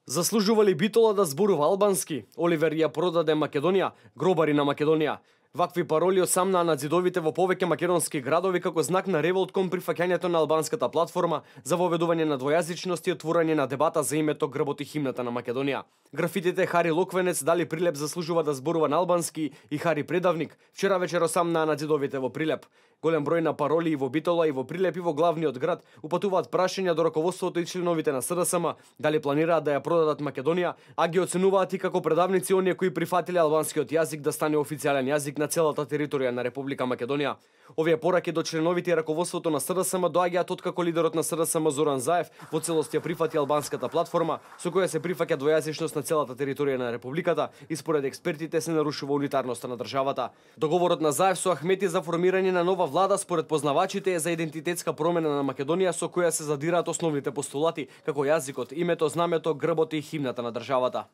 Заслужува ли Битола да зборува албански? Оливер ја продаде Македонија, гробари на Македонија. Вакви пароли осамнаа на ѕидовите во повеќе македонски градови како знак на револт кон прифаќањето на албанската платформа за воведување на двојазичност и отворање на дебата за името, грбот и химната на Македонија. Графитите Хари Локвенец, Дали Прилеп заслужува да зборува на албански и Хари Предавник вчера вечер осамнаа на ձидовите во Прилеп. Голем број на пароли и во Битола, и во Прилеп, и во главниот град упатуваат прашања до раководството и членовите на СДСМ дали планираат да ја продадат Македонија, а ги оценуваат и како предавници оние кои прифатиле албанскиот јазик да стане официјален јазик на целата територија на Република Македонија. Овие пораки до членовите и раководството на СДСМ доаѓаат откако лидерот на СДСМ Зоран Заев во целост ја прифати албанската платформа со која се прифаќа двојазичност на целата територија на републиката и според експертите се нарушува унитарноста на државата. Договорот на Заев со Ахмети за формирање на нова влада според познавачите е за идентитетска промена на Македонија со која се задираат основните постулати како јазикот, името, знамето, грбот и химната на државата.